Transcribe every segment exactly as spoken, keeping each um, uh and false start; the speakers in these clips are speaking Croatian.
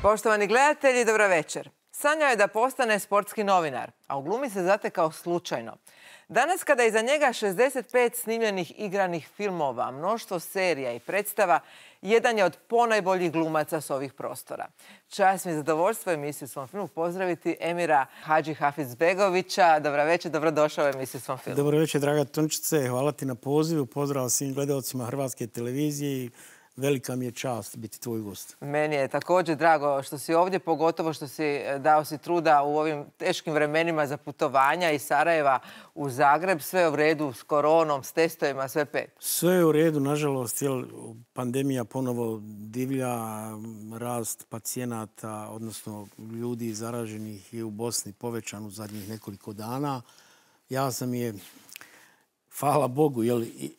Poštovani gledatelji, dobro večer. Sanjao je da postane sportski novinar, a u glumi se zatekao slučajno. Danas, kada je iza njega šezdeset pet snimljenih igranih filmova, mnoštvo serija i predstava, jedan je od ponajboljih glumaca s ovih prostora. Čast mi je zadovoljstvo emisiju Svom filmu pozdraviti Emira Hadžihafizbegovića. Dobro večer, dobrodošao u emisiju Svom filmu. Dobro večer, draga Tončice. Hvala ti na pozivu. Pozdrav svim gledalcima Hrvatske televizije. Velika mi je čast biti tvoj gost. Meni je također drago što si ovdje, pogotovo što si dao si truda u ovim teškim vremenima za putovanja iz Sarajeva u Zagreb. Sve je u redu s koronom, s testovima, sve pet. Sve je u redu, nažalost, jer pandemija ponovo divlja, rast pacijenata, odnosno ljudi zaraženih je u Bosni povećan u zadnjih nekoliko dana. Ja sam je, hvala Bogu, ili,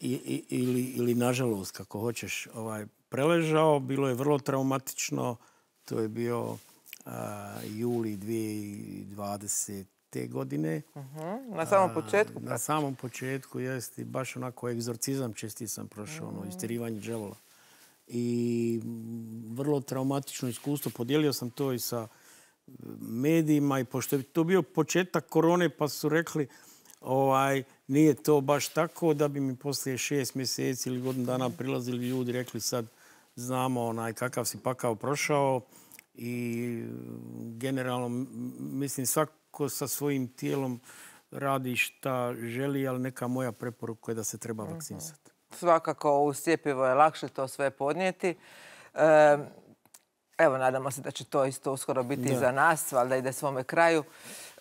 ili, ili nažalost, kako hoćeš, ovaj, preležao. Bilo je vrlo traumatično. To je bio a, juli dvije tisuće dvadesete. godine. Uh-huh. Na samom početku? A, na samom početku, jeste. Baš onako egzorcizam česti sam prošao, uh-huh. ono, istirivanje đavola. I vrlo traumatično iskustvo. Podijelio sam to i sa medijima i pošto je to bio početak korone pa su rekli ovaj, nije to baš tako, da bi mi poslije šest mjeseci ili godinu dana prilazili ljudi rekli sad znamo onaj kakav si pakao prošao i generalno mislim svako sa svojim tijelom radi šta želi, ali neka moja preporuka je da se treba vakcinisati. Svakako uz cjepivo je lakše to sve podnijeti. E, evo, nadamo se da će to isto uskoro biti i za nas, valjda ide svome kraju.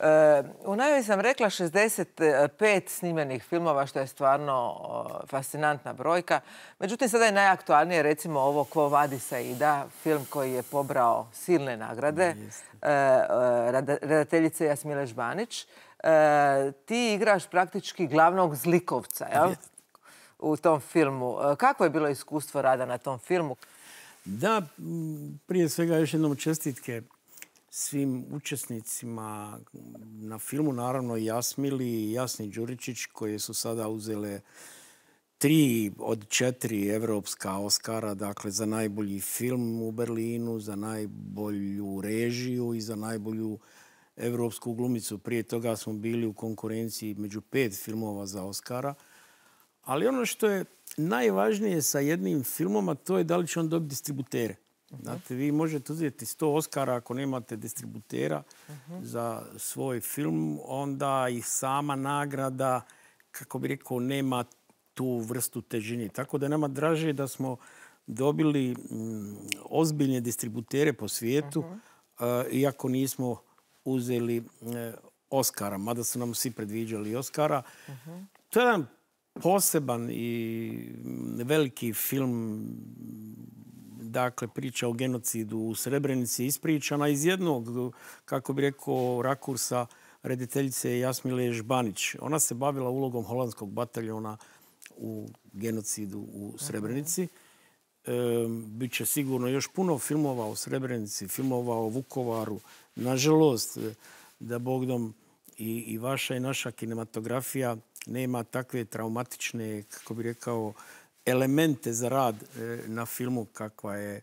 E, u najavi sam rekla šezdeset pet snimljenih filmova, što je stvarno o, fascinantna brojka. Međutim, sada je najaktualnije recimo ovo Quo Vadis Aida, film koji je pobrao silne nagrade, e, redateljice Jasmile Žbanić. E, ti igraš praktički glavnog zlikovca, jel? U tom filmu. Kako je bilo iskustvo rada na tom filmu? Da, prije svega još jednom čestitke svim učesnicima na filmu, naravno Jasmili i Jasni Đuričić, koje su sada uzele tri od četiri evropska Oskara, dakle za najbolji film u Berlinu, za najbolju režiju i za najbolju evropsku glumicu. Prije toga smo bili u konkurenciji među pet filmova za Oskara. Ali ono što je najvažnije sa jednim filmom, a to je da li će on dobiti distributere. Znate, vi možete uzeti sto Oskara ako nemate distributera uh-huh. za svoj film, onda i sama nagrada, kako bi rekao, nema tu vrstu težine. Tako da nama draže da smo dobili mm, ozbiljne distributere po svijetu, uh-huh. uh, iako nismo uzeli uh, Oskara, mada su nam svi predviđali Oskara. Uh-huh. To je jedan poseban i veliki film, dakle priča o genocidu u Srebrenici, ispričana iz jednog, kako bi rekao, rakursa rediteljice Jasmile Žbanić. Ona se bavila ulogom holandskog bataljona u genocidu u Srebrenici. E, Biće sigurno još puno filmova o Srebrenici, filmova o Vukovaru. Nažalost, da Bogdom i, i vaša i naša kinematografija nema takve traumatične, kako bi rekao, elemente za rad na filmu kakva je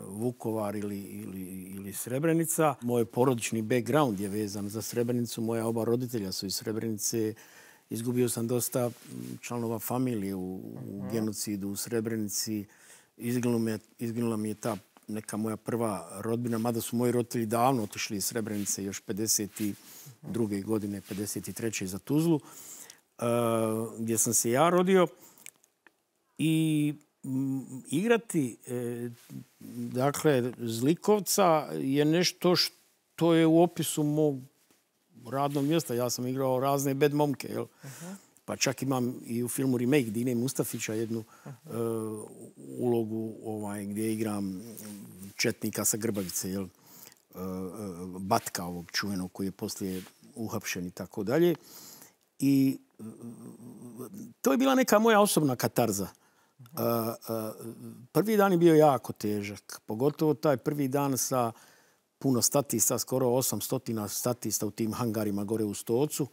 Vukovar ili, ili, ili Srebrenica. Moj porodični background je vezan za Srebrenicu. Moja oba roditelja su iz Srebrenice. Izgubio sam dosta članova familije u, u genocidu u Srebrenici. Izginula mi je, izginula mi je ta neka moja prva rodbina, mada su moji roditelji davno otišli iz Srebrenice još pedeset druge godine, pedeset treće za Tuzlu, uh, gdje sam se ja rodio. I m, igrati e, dakle, zlikovca je nešto što je u opisu mog radnog mjesta. Ja sam igrao razne bad momke, jel? Uh-huh. Pa čak imam i u filmu Remake Dine Mustafića jednu uh-huh. e, ulogu ovaj, gdje igram četnika sa Grbavice, jel? E, Batka ovog čuvenog koji je poslije uhapšen i tako dalje. I to je bila neka moja osobna katarza. Uh, uh, prvi dan je bio jako težak. Pogotovo taj prvi dan sa puno statista, skoro osamsto statista u tim hangarima gore u Stocu.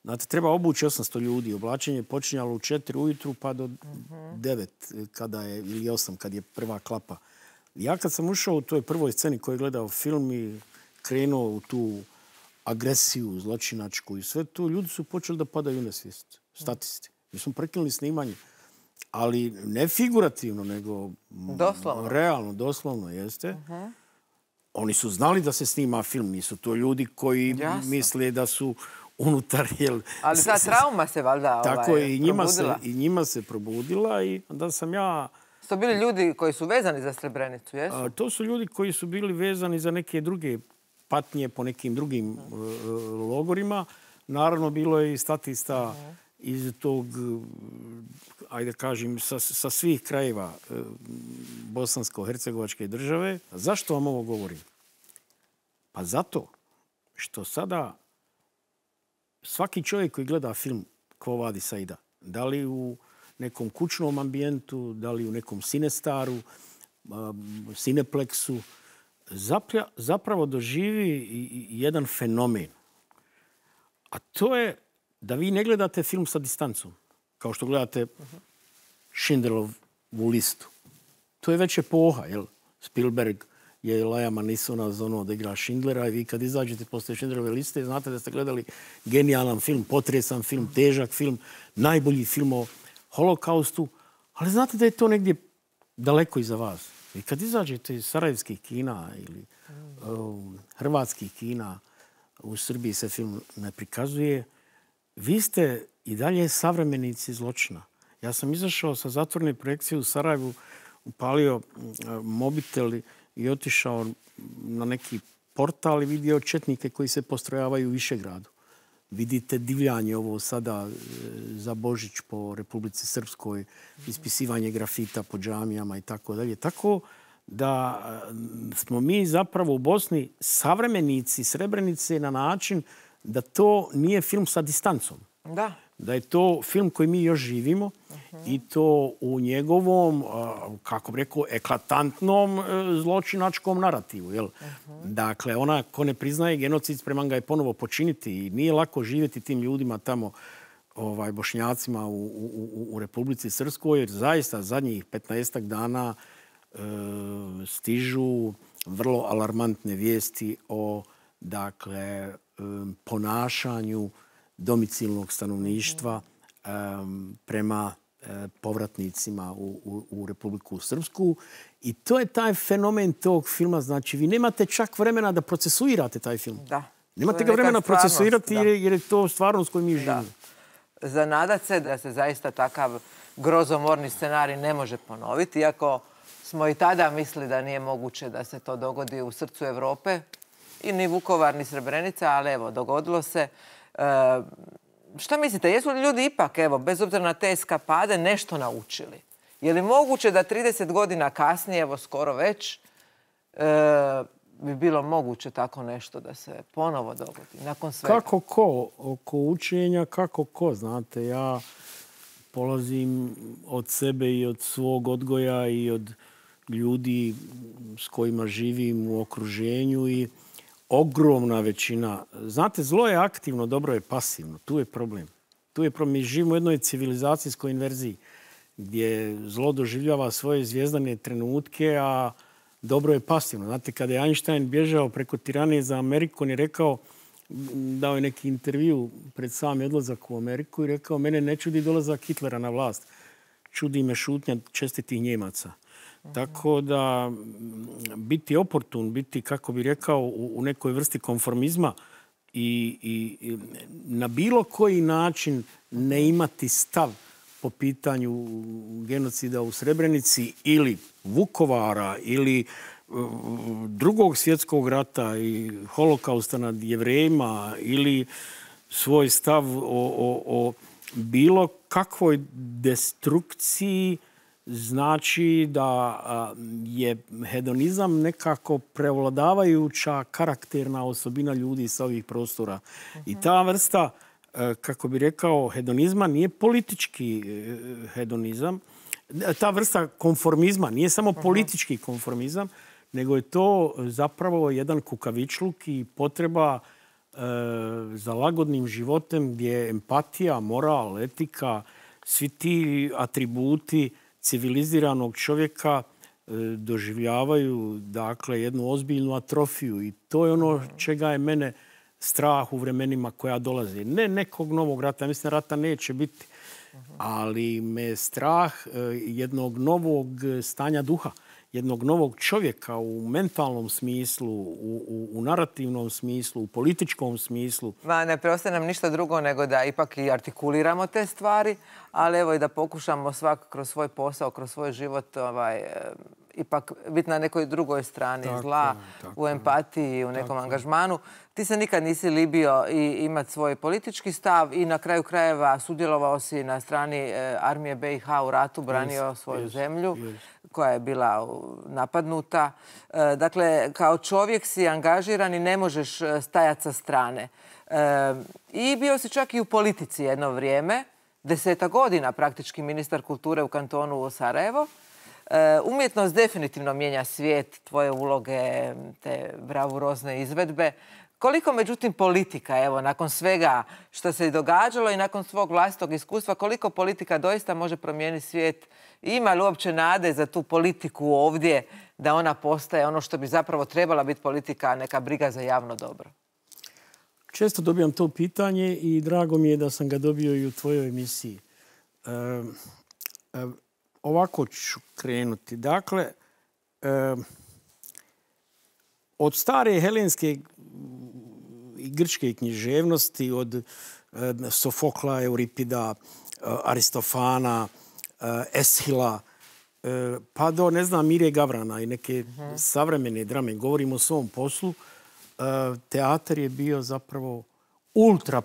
Znate, treba obući osamsto ljudi. Oblačenje je počinjalo u četiri ujutru pa do uh-huh. devet kada je, ili osam kad je prva klapa Ja kad sam ušao u toj prvoj sceni koju je gledao film i krenuo u tu agresiju zločinačku i sve to, ljudi su počeli da padaju u nesvijest. Statisti. Mi smo prekinuli snimanje. Ali ne figurativno, nego doslovno. Realno, doslovno jeste. Uh-huh. Oni su znali da se snima film. Nisu to ljudi koji Jasno. misle da su unutar... Jel, ali ta trauma se valjda tako ovaj, i njima probudila. Se, i njima se probudila i onda sam ja... To su bili ljudi koji su vezani za Srebrenicu, jesu? A, to su ljudi koji su bili vezani za neke druge patnje po nekim drugim uh, logorima. Naravno, bilo je i statista uh-huh. iz tog, ajde kažem, sa, sa svih krajeva uh, bosansko-hercegovačke države. Zašto vam ovo govorim? Pa zato što sada svaki čovjek koji gleda film Quo Vadis Saida, da li u nekom kućnom ambijentu, da li u nekom Cinestaru, um, Cineplexu, Zaplja, zapravo doživi jedan fenomen. A to je da vi ne gledate film sa distancom, kao što gledate Schindlerovu listu. To je već epoha, jel? Spielberg je Liama Neesona za ono da igra Schindlera i vi kad izađete posle Schindlerove liste znate da ste gledali genijalan film, potresan film, težak film, najbolji film o holokaustu, ali znate da je to negdje daleko iza vas. I kad izađete iz sarajevskih kina ili um, hrvatskih kina, u Srbiji se film ne prikazuje, vi ste i dalje savremenici zločina. Ja sam izašao sa zatvorene projekcije u Sarajevu, upalio uh, mobitel i otišao na neki portal i vidio četnike koji se postrojavaju u Višegradu. Vidite divljanje ovo sada za Božić po Republici Srpskoj, ispisivanje grafita po džamijama i tako dalje. Tako da smo mi zapravo u Bosni savremenici Srebrenice na način da to nije film sa distancom. Da. Da je to film koji mi još živimo uh-huh. i to u njegovom, kako bih rekao, eklatantnom zločinačkom narativu. Jel? Uh-huh. Dakle, ona ko ne priznaje genocid, spreman ga je ponovo počiniti i nije lako živjeti tim ljudima tamo, ovaj, Bošnjacima u, u, u Republici Srpskoj, jer zaista zadnjih petnaestak dana e, stižu vrlo alarmantne vijesti o, dakle, e, ponašanju domicilnog stanovništva um, prema uh, povratnicima u, u, u Republiku Srpsku. I to je taj fenomen tog filma. Znači, vi nemate čak vremena da procesuirate taj film. Da. Nemate ga vremena procesuirati jer, jer je to stvarnost koju mi živimo. Zanadat se da se zaista takav grozomorni scenarij ne može ponoviti, iako smo i tada mislili da nije moguće da se to dogodi u srcu Evrope. I ni Vukovar, ni Srebrenica, ali evo, dogodilo se. Uh, šta mislite, jesu li ljudi ipak, evo, bez obzira na te eskapade, nešto naučili? Je li moguće da trideset godina kasnije, evo skoro već, uh, bi bilo moguće tako nešto da se ponovo dogodi nakon svega? Kako ko? Oko učenja, kako ko? Znate, ja polazim od sebe i od svog odgoja i od ljudi s kojima živim u okruženju i ogromna većina. Znate, zlo je aktivno, dobro je pasivno. Tu je problem. Tu je problem. Mi živimo u jednoj civilizacijskoj inverziji gdje zlo doživljava svoje zvijezdane trenutke, a dobro je pasivno. Znate, kada je Einstein bježao preko tiranije za Ameriku, on je rekao, dao je neki intervju pred sami odlazak u Ameriku i rekao, mene ne čudi dolazak Hitlera na vlast. Čudi me šutnja čestitih Njemaca. Tako da biti oportun, biti, kako bi rekao, u nekoj vrsti konformizma i, i na bilo koji način ne imati stav po pitanju genocida u Srebrenici ili Vukovara ili drugog svjetskog rata i holokausta nad Jevrejima ili svoj stav o, o, o bilo kakvoj destrukciji, znači da je hedonizam nekako prevladavajuća karakterna osobina ljudi sa ovih prostora. Uh-huh. I ta vrsta, kako bi rekao, hedonizma nije politički hedonizam. Ta vrsta konformizma nije samo uh-huh. politički konformizam, nego je to zapravo jedan kukavičluk i potreba e, za lagodnim životem gdje je empatija, moral, etika, svi ti atributi civiliziranog čovjeka doživljavaju dakle, jednu ozbiljnu atrofiju. I to je ono čega je mene strah u vremenima koja dolaze. Ne nekog novog rata, mislim rata neće biti, ali me je strah jednog novog stanja duha, jednog novog čovjeka u mentalnom smislu, u, u, u narativnom smislu, u političkom smislu. Ma, ne preostaje nam ništa drugo nego da ipak i artikuliramo te stvari, ali evo i da pokušamo svak kroz svoj posao, kroz svoj život ovaj, ipak biti na nekoj drugoj strani tako, zla, tako, u empatiji, u nekom tako. angažmanu. Ti se nikad nisi libio i imati svoj politički stav i na kraju krajeva sudjelovao si na strani e, armije B i H u ratu, branio yes, svoju yes, zemlju yes. koja je bila napadnuta. E, dakle, kao čovjek si angažiran i ne možeš stajati sa strane. E, I bio si čak i u politici jedno vrijeme, deseta godina praktički ministar kulture u kantonu Sarajevo. E, umjetnost definitivno mijenja svijet, tvoje uloge, te bravurozne izvedbe. Koliko, međutim, politika, evo, nakon svega što se događalo i nakon svog vlastitog iskustva, koliko politika doista može promijeniti svijet? Ima li uopće nade za tu politiku ovdje da ona postaje ono što bi zapravo trebala biti politika, neka briga za javno dobro? Često dobijam to pitanje i drago mi je da sam ga dobio i u tvojoj emisiji. E, e, ovako ću krenuti. Dakle, e, od stare helenske i grčke književnosti, od e, Sofokla, Euripida, e, Aristofana, e, Eshila, e, pa do, ne znam, Mire Gavrana i neke uh-huh. savremene drame. Govorimo o svom poslu. E, teatar je bio zapravo ultra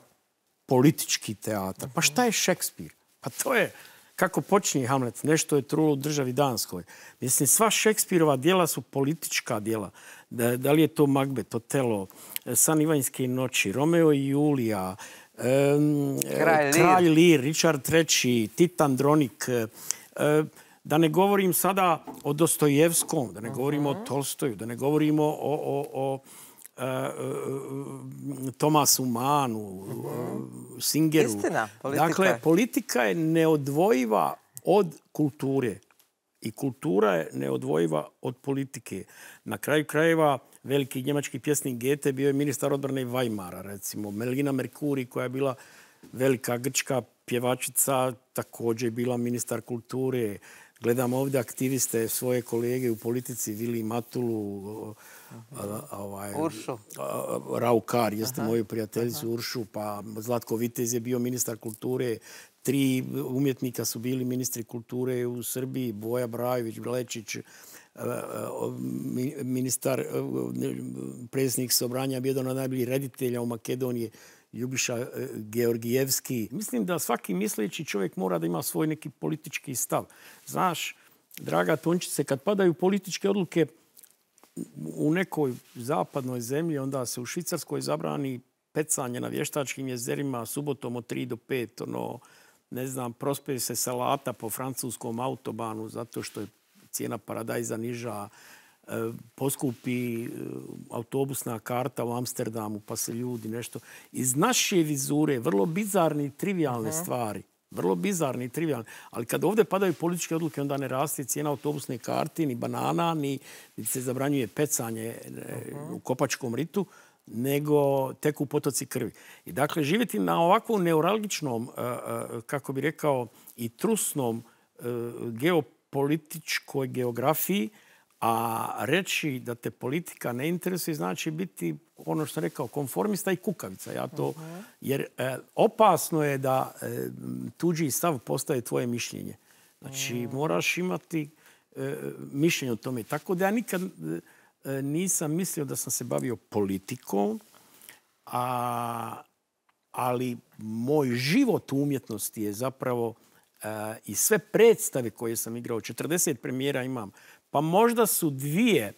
politički teatar. Pa šta je Šekspir? Pa to je, kako počinje Hamlet, nešto je trulo u državi Danskoj. Mislim, sva Šekspirova djela su politička djela. Da, da li je to Macbeth, Otelo, San Ivanjske noći, Romeo i Julija, um, Kralj, Kralj Lir, Richard treći, Tit Andronik. Um, da ne govorim sada o Dostojevskom, da ne govorimo uh-huh. o Tolstoju, da ne govorimo o, o, o uh, uh, Tomasu Manu, uh-huh. Singeru. Istina, politika. Dakle, politika je neodvojiva od kulture. I kultura je neodvojiva od politike. Na kraju krajeva, veliki njemački pjesnik Goethe bio je ministar odbrane Weimara, recimo. Melina Mercuri, koja je bila velika grčka pjevačica, također je bila ministar kulture. Gledam ovdje aktiviste, svoje kolege u politici, Vili Matulu, ovaj, Uršu. Raukar, jeste moju prijateljicu Uršu, pa Zlatko Vitez je bio ministar kulture. Tri umjetnika su bili ministri kulture u Srbiji, Boja Brajović, Blečić, ministar, predsjednik Sobranja, bio jedan od najboljih reditelja u Makedoniji, Ljubiša Georgijevski. Mislim da svaki misleći čovjek mora da ima svoj neki politički stav. Znaš, draga Tončice, kad padaju političke odluke u nekoj zapadnoj zemlji, onda se u Švicarskoj zabrani pecanje na vještačkim jezerima subotom od tri do pet, ono, ne znam, prospe se salata po francuskom autobanu zato što je cijena paradajza niža, poskupi autobusna karta u Amsterdamu, pa se ljudi nešto... Iz naše vizure, vrlo bizarni i trivialne uh-huh. stvari. Vrlo bizarni i trivialni. Ali kad ovdje padaju političke odluke, onda ne raste cijena autobusne karte, ni banana, ni, ni se zabranjuje pecanje uh-huh. u Kopačkom ritu, nego teku potoci krvi. I dakle, živjeti na ovakvom neuralgičnom, kako bi rekao, i trusnom geopolitičkoj geografiji, a reći da te politika ne interesuje znači biti, ono što sam rekao, konformista i kukavica. Ja to, uh-huh. Jer e, opasno je da e, tuđi stav postaje tvoje mišljenje. Znači, uh-huh. moraš imati e, mišljenje o tome. Tako da ja nikad e, nisam mislio da sam se bavio politikom, a, ali moj život u umjetnosti je zapravo e, i sve predstave koje sam igrao, četrdeset premijera imam, pa možda su dvije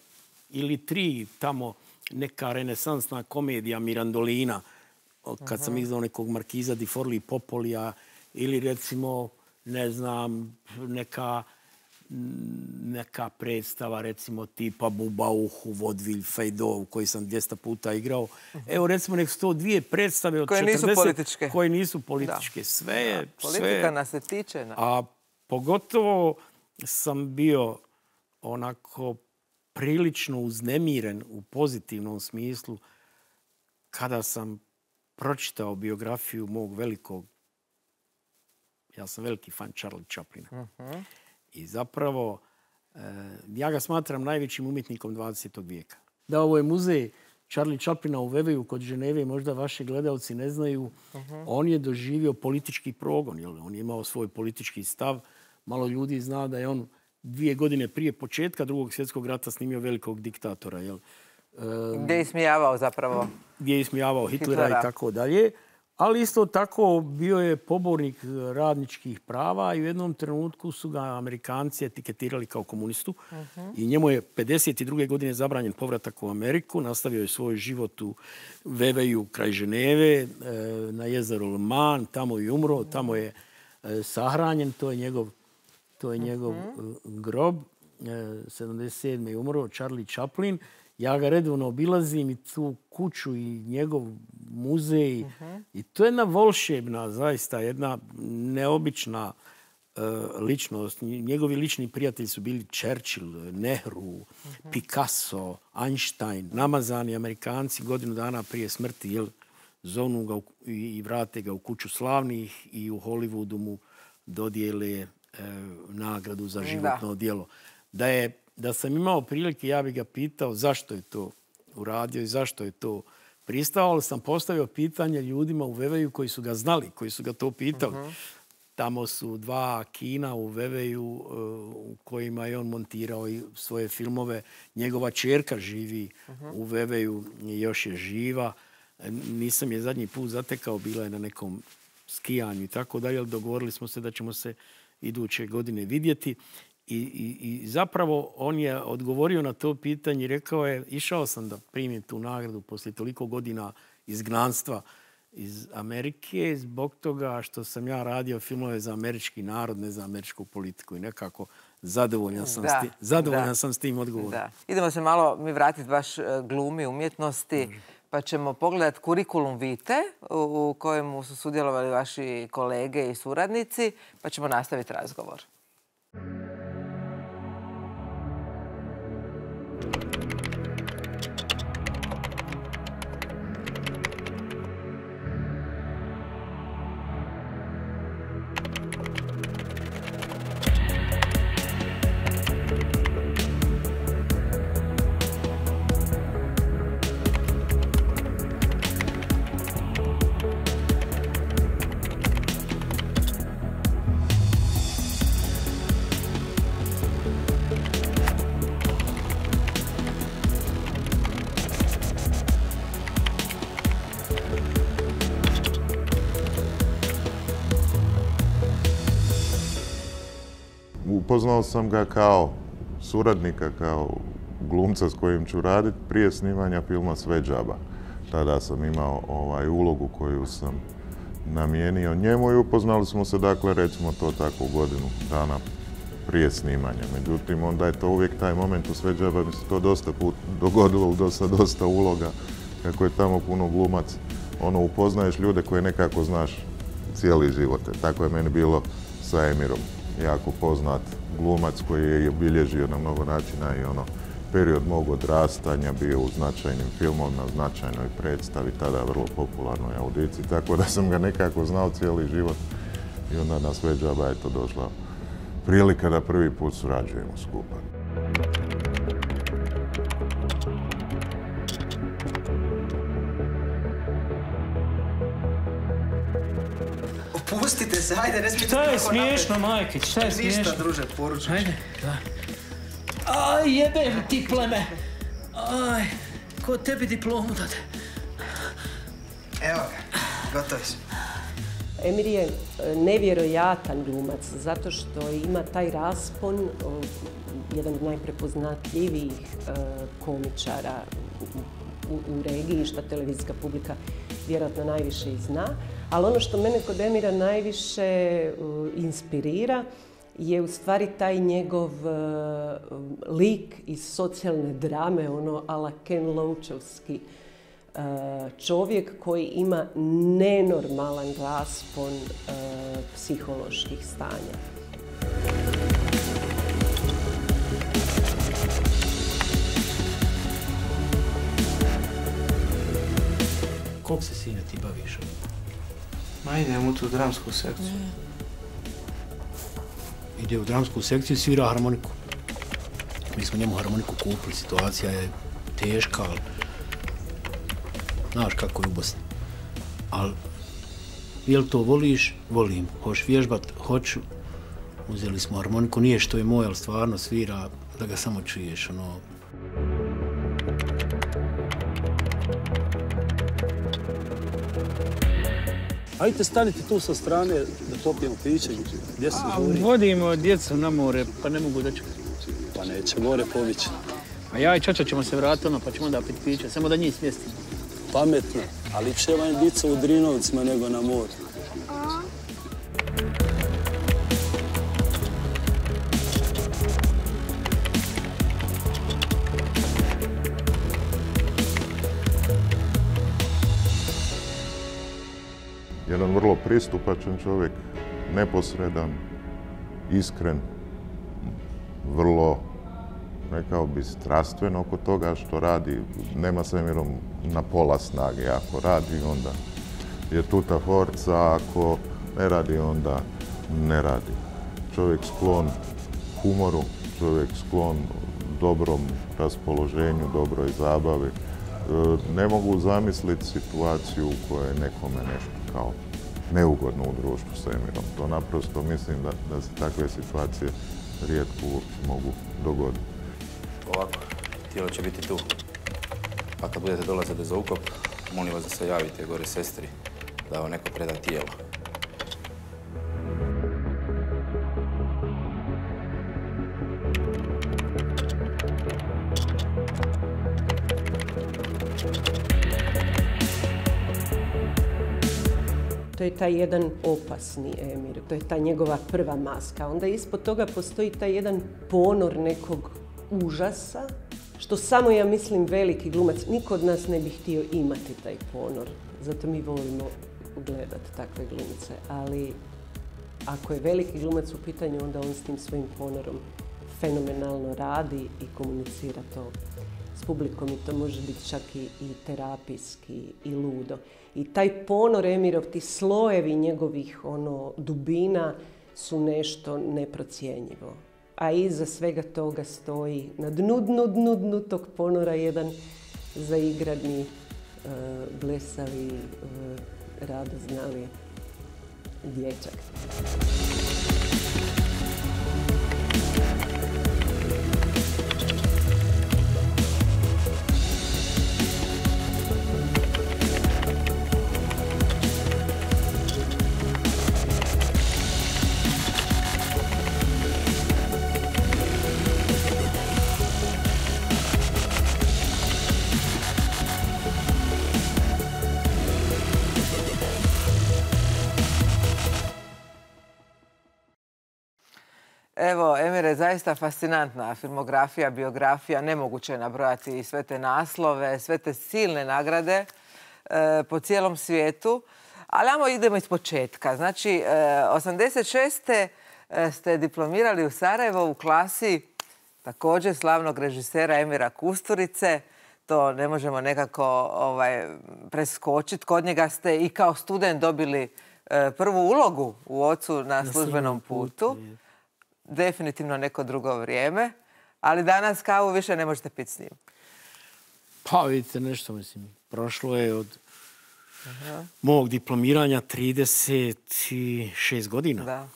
ili tri tamo neka renesansna komedija Mirandolina, kad uh-huh. sam izdao nekog Markiza di Forli Popolija, ili recimo, ne znam, neka, neka predstava, recimo tipa Bubauhu, Vodvilj, Fejdov, koji sam dvjesto puta igrao. Uh-huh. Evo, recimo, nek su to dvije predstave od koje četrdeset nisu političke. Koje nisu političke. Da. Sve je... Politika sve, nas se tiče. Na. A pogotovo sam bio onako prilično uznemiren u pozitivnom smislu kada sam pročitao biografiju mog velikog, ja sam veliki fan Charlie Chaplina. Uh-huh. I zapravo, e, ja ga smatram najvećim umjetnikom dvadesetog vijeka. Da, ovo je muzej Charlie Chaplina u Veveju kod Ženeve, možda vaši gledalci ne znaju. Uh-huh. On je doživio politički progon, jel? On je imao svoj politički stav. Malo ljudi zna da je on dvije godine prije početka Drugog svjetskog rata snimio Velikog diktatora. Jel? Gdje je ismijavao zapravo? Gdje je ismijavao Hitlera, Hitlera i tako dalje. Ali isto tako bio je pobornik radničkih prava i u jednom trenutku su ga Amerikanci etiketirali kao komunistu. Uh-huh. I njemu je pedeset druge godine zabranjen povratak u Ameriku. Nastavio je svoj život u Veveju kraj Ženeve, na jezeru Le Mans. Tamo je umro, tamo je sahranjen. To je njegov, to je njegov uh-huh. grob. sedamdeset sedme je umro Charlie Chaplin. Ja ga redovno obilazim i tu kuću i njegov muzej. Uh-huh. I to je jedna volšebna, zaista jedna neobična uh, ličnost. Njegovi lični prijatelji su bili Churchill, Nehru, uh-huh. Picasso, Einstein. Namazani Amerikanci godinu dana prije smrti jel, zovnu ga u, i vrate ga u kuću slavnih i u Hollywoodu mu dodijele uh, nagradu za životno da. djelo. Da je Da sam imao prilike, ja bih ga pitao zašto je to uradio i zašto je to pristao, ali sam postavio pitanje ljudima u Veveju koji su ga znali, koji su ga to pitali. Uh-huh. Tamo su dva kina u Veveju u kojima je on montirao i svoje filmove. Njegova ćerka živi uh-huh. u Veveju i još je živa. Nisam je zadnji put zatekao, bila je na nekom skijanju i tako dalje, ali dogovorili smo se da ćemo se iduće godine vidjeti. I, i, I zapravo on je odgovorio na to pitanje i rekao je, išao sam da primim tu nagradu poslije toliko godina izgnanstva iz Amerike zbog toga što sam ja radio filmove za američki narod, ne za američku politiku i nekako zadovoljan sam, da, s, tim, zadovoljan sam s tim odgovorom. Da. Idemo se malo mi vratiti baš glumi, umjetnosti, mm. pa ćemo pogledati kurikulum vitae u kojemu su sudjelovali vaši kolege i suradnici, pa ćemo nastaviti razgovor. Upoznao sam ga kao suradnika, kao glumca s kojim ću raditi prije snimanja filma Sve džaba. Tada sam imao ovaj, ulogu koju sam namijenio njemu i upoznali smo se, dakle, recimo to tako godinu dana prije snimanja. Međutim, onda je to uvijek taj moment u Sve džaba, mi se to dosta put dogodilo u dosta, dosta uloga, kako je tamo puno glumac. Ono, upoznaješ ljude koje nekako znaš cijeli život. Tako je meni bilo sa Emirom. Jako poznat glumac koji je obilježio na mnogo načina i ono period mog odrastanja, bio u značajnim filmovima, na značajnoj predstavi, tada vrlo popularnoj audiciji, tako da sam ga nekako znao cijeli život i onda na Sve džaba je to došla prilika da prvi put surađujemo skupa. Pustite se, hajde, ne smijete... Šta je smiješno, Majkić, šta je smiješno? Ništa, druže, poručuš. Hajde, da. Aj, jebem ti pleme. Aj, ko tebi diplomu dade? Evo ga, gotovi su. Emir je nevjerojatan glumac, zato što ima taj raspon, jedan od najprepoznatljivijih komičara u, u regiji, što televizijska publika vjerojatno najviše i zna. Ali ono što mene kod Emira najviše uh, inspirira je u stvari taj njegov uh, lik iz socijalne drame, ono ala Ken Loachovski uh, čovjek koji ima nenormalan raspon uh, psiholoških stanja. Kog se, sine, ti baviš? Ma idem u tu dramsku sekciju. Ide u dramsku sekciju i svira harmoniku. Mi smo njemu harmoniku kupili, situacija je teška, ali znaš kako je u Bosni. Ali, jel to voliš? Volim. Hoš vježbat? Hoću. Uzeli smo harmoniku, nije što je moj, ali stvarno svira da ga samo čuješ, ono. Ajde stanite tu sa strane da topijemo piće. Gdje se žuri? Vodimo djecu na more, pa ne mogu doći. Pa neće more povići. A ja i čača ćemo se vratiti ono, pa ćemo da piti piće, samo da njih smjestimo. Pametno, ali će vam dica u Drinovcima nego na moru. Jedan vrlo pristupačan čovjek, neposredan, iskren, vrlo, rekao bi, strastven oko toga što radi. Nema svemirom na pola snage. Ako radi, onda je tuta forca, ako ne radi, onda ne radi. Čovjek sklon humoru, čovjek sklon dobrom raspoloženju, dobroj zabavi. Ne mogu zamisliti situaciju u kojoj je nekome nešto kao neugodno u društvu s Emirom. To naprosto mislim da, da se takve situacije rijetko uopće mogu dogoditi. Ovako, tijelo će biti tu. Pa kad budete dolazili za ukop, molim vas da se javite gore sestri da vam neko preda tijelo. To je taj jedan opasni Emir, to je ta njegova prva maska. Onda ispod toga postoji taj jedan ponor nekog užasa, što samo, ja mislim, veliki glumac, niko od nas ne bi htio imati taj ponor. Zato mi volimo gledati takve glumce. Ali ako je veliki glumac u pitanju, onda on s tim svojim ponorom fenomenalno radi i komunicira to s publikom i to može biti čak i, i terapijski i ludo. I taj ponor Emirov, ti slojevi njegovih ono, dubina su nešto neprocjenjivo. A iza svega toga stoji na dnu, dnu, dnu, dnu tog ponora jedan zaigrani, uh, blesavi, uh, radoznali dječak. Evo, Emire, zaista fascinantna filmografija, biografija, nemoguće je nabrojati sve te naslove, sve te silne nagrade e, po cijelom svijetu. Ali ajmo idemo iz početka. Znači, e, osamdeset šeste. ste diplomirali u Sarajevo u klasi također slavnog režisera Emira Kusturice. To ne možemo nekako ovaj, preskočiti. Kod njega ste i kao student dobili e, prvu ulogu u Ocu na službenom putu. Definitivno neko drugo vrijeme, ali danas kavu više ne možete piti s njim. Pa vidite nešto, mislim, prošlo je od Aha. mog diplomiranja trideset šest godina. Da.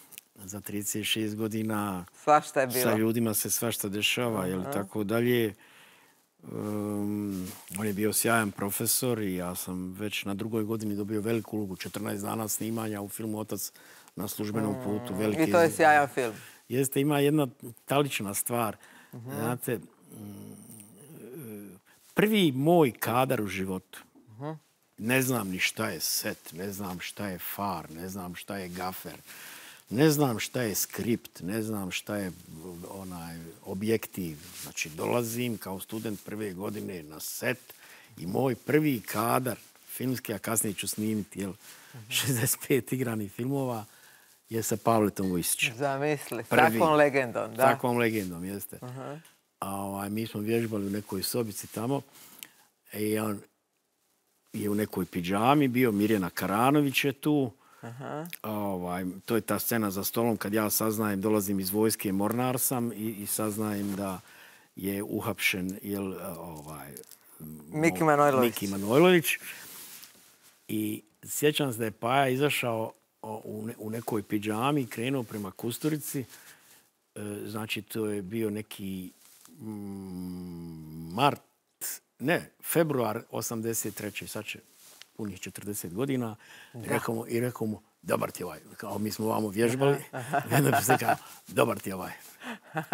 Za trideset šest godina svašta je bilo. Sa ljudima se svašta dešava, jel tako dalje. Um, on je bio sjajan profesor i ja sam već na drugoj godini dobio veliku ulogu, četrnaest dana snimanja u filmu Otac na službenom putu. Veliki I to je sjajan film. Jeste, ima jedna talična stvar. Uh-huh. Znate, prvi moj kadar u životu. Uh-huh. Ne znam ni šta je set, ne znam šta je far, ne znam šta je gafer, ne znam šta je skript, ne znam šta je onaj objektiv. Znači, dolazim kao student prve godine na set i moj prvi kadar filmski, a kasnije ću snimiti, jel, uh-huh. šezdeset pet igranih filmova, je sa Pavletom Vujsićem. Zamisli, s takvom legendom, da. Takvom legendom, jeste. Uh-huh. A ovaj, mi smo vježbali u nekoj sobici tamo i on, je u nekoj pidžami bio, Mirjana Karanović je tu. Aha. Ovaj, to je ta scena za stolom kad ja saznajem, dolazim iz vojske, mornar sam i, i saznajem da je uhapšen jel, ovaj, Miki Manojlović. Miki Manojlović. I sjećam se da je Paja izašao u, ne, u nekoj pidžami i krenuo prema Kusturici. E, znači, to je bio neki mm, mart, ne, februar osamdeset treće. Sad će punih četrdeset godina. I rekao mu, i rekao mu, dobar ti ovaj. Kao mi smo vamo vježbali. I onda bi se kao, dobar ti ovaj.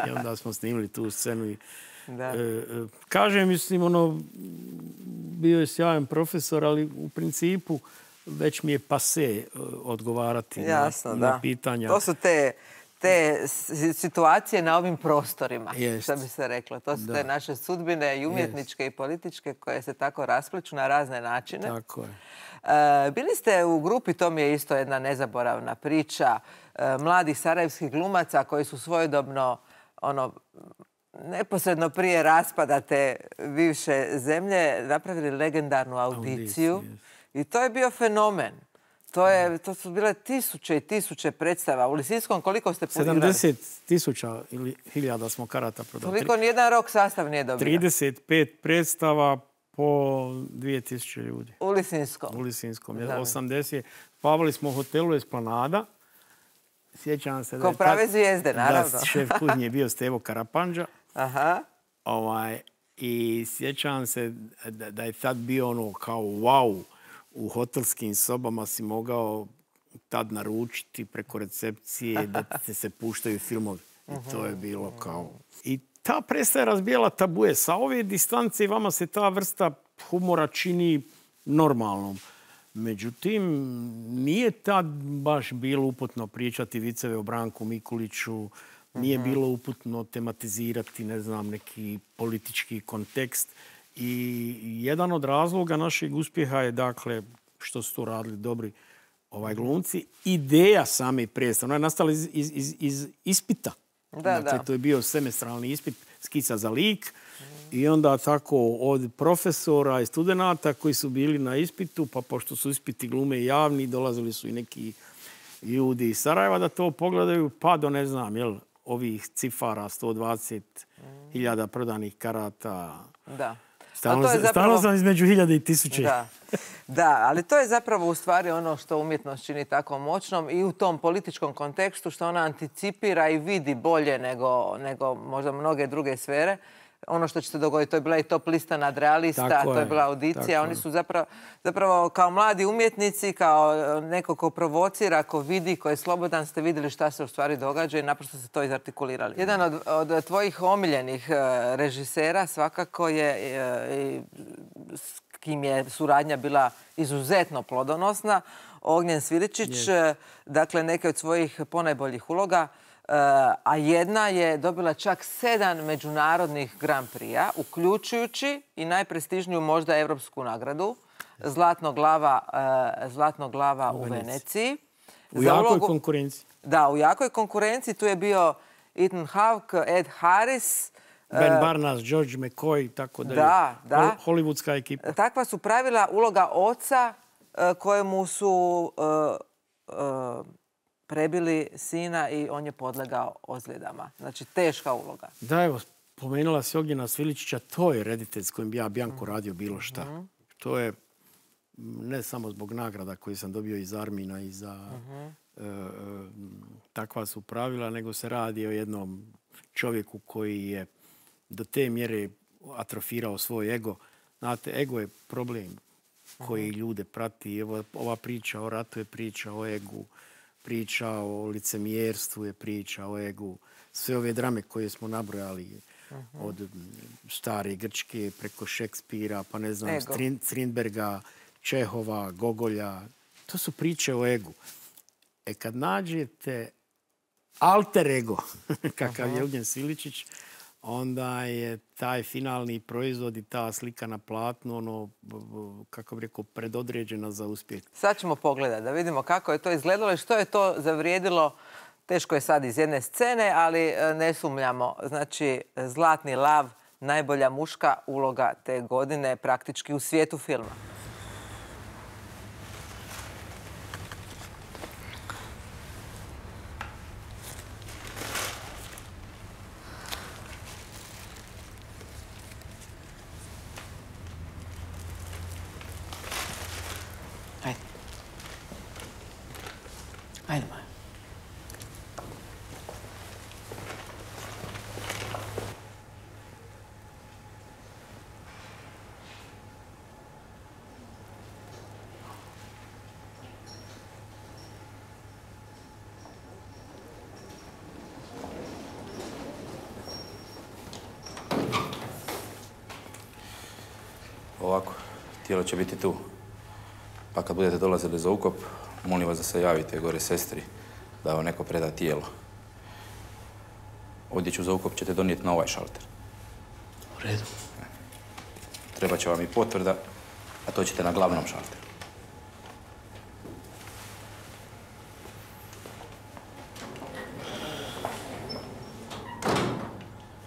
I onda smo snimili tu scenu i da. E, e, kažem, mislim, ono, bio je sjajan profesor, ali u principu već mi je pase odgovarati Jasno, na, da. na pitanja. To su te, te situacije na ovim prostorima, Jest. što bi se reklo. To su da. te naše sudbine i umjetničke Jest. i političke koje se tako raspliču na razne načine. Tako je. E, bili ste u grupi, to mi je isto jedna nezaboravna priča, e, mladih sarajevskih glumaca koji su svojedobno ono, neposredno prije raspada te bivše zemlje napravili legendarnu audiciju. Audiciju. I to je bio fenomen. To, je, to su bile tisuće i tisuće predstava. U Lisinskom koliko ste podigrali? sedamdeset tisuća ili hiljada smo karata prodali. Toliko nijedan rok sastav nije dobio. trideset pet predstava po dvije tisuće ljudi. U Lisinskom? U Lisinskom. Da. osamdeset. Pavali smo u hotelu Esplanada. Sjećam se da Ko je prave zvijezde, naravno. Da, šef kuhinje je bio Stevo Karapandža. Aha. Ovaj, i sjećam se da, da je tad bio ono kao wow, u hotelskim sobama si mogao tad naručiti preko recepcije da ti se puštaju filmovi. I to je bilo kao... I ta predstava je razbijala tabuje. Sa ove distance vama se ta vrsta humora čini normalnom. Međutim, nije tad baš bilo uputno pričati viceve o Branku Mikuliću, nije bilo uputno tematizirati, ne znam, neki politički kontekst. I jedan od razloga našeg uspjeha je, dakle, što su to radili dobri ovaj glumci, ideja same predstave. Ona je nastala iz, iz, iz, iz ispita. Da, dakle, da. to je bio semestralni ispit, skica za lik. I onda tako od profesora i studenata koji su bili na ispitu, pa pošto su ispiti glume javni, dolazili su i neki ljudi iz Sarajeva da to pogledaju, pa do, ne znam, jel, ovih cifara, sto dvadeset hiljada prodanih karata. Da. Stalno, zapravo... stalno sam između hiljade i tisuće. Da. Da, ali to je zapravo u stvari ono što umjetnost čini tako moćnom i u tom političkom kontekstu što ona anticipira i vidi bolje nego, nego možda mnoge druge sfere. Ono što će se dogoditi, to je bila i top lista nadrealista, tako to je, je bila audicija. Oni su zapravo, zapravo kao mladi umjetnici, kao neko ko provocira, ko vidi, ko je slobodan, ste vidjeli šta se u stvari događa i naprosto ste to izartikulirali. Jedan od, od tvojih omiljenih režisera svakako je, s kim je suradnja bila izuzetno plodonosna, Ognjen Sviličić, je. Dakle neke od svojih ponajboljih uloga. A jedna je dobila čak sedam međunarodnih Grand Prix-a, uključujući i najprestižniju možda evropsku nagradu, Zlatno glava, Zlatno glava u, u Veneciji. U jakoj ulogu... konkurenciji. Da, u jakoj konkurenciji. Tu je bio Ethan Hawke, Ed Harris. Ben Barnas, George McCoy, tako da, da, da. Hollywoodska ekipa. Takva su pravila uloga oca kojemu su... Uh, uh, prebili sina i on je podlegao ozljedama. Znači, teška uloga. Da, evo, pomenula si Ognjena Sviličića, to je reditelj s kojim bi ja, Bjanko, radio bilo šta. Mm-hmm. To je ne samo zbog nagrada koje sam dobio iz Armina i za mm-hmm. e, e, takva su pravila, nego se radi o jednom čovjeku koji je do te mjere atrofirao svoj ego. Znate, ego je problem koji mm-hmm. ljude prati. Evo, ova priča o ratu je priča o egu. Priča o licemjerstvu je priča o egu. Sve ove drame koje smo nabrojali uh-huh. od stare Grčke preko Šekspira, pa ne znam, Strin, Strindberga, Čehova, Gogolja. To su priče o egu. E kad nađete alter ego, kakav uh-huh. je Ognjen Sviličić, onda je taj finalni proizvod i ta slika na platnu, ono, kako bih rekao, predodređena za uspjeh. Sad ćemo pogledati da vidimo kako je to izgledalo i što je to zavrijedilo. Teško je sad iz jedne scene, ali ne sumnjamo. Znači, Zlatni lav, najbolja muška uloga te godine praktički u svijetu filma. Ovako, tijelo će biti tu. Pa kad budete dolazili za ukop, molim vas da se javite gore sestri da vam neko preda tijelo. Odjeću za ukop ćete donijeti na ovaj šalter. U redu. Treba će vam i potvrda, a to ćete na glavnom šalteru.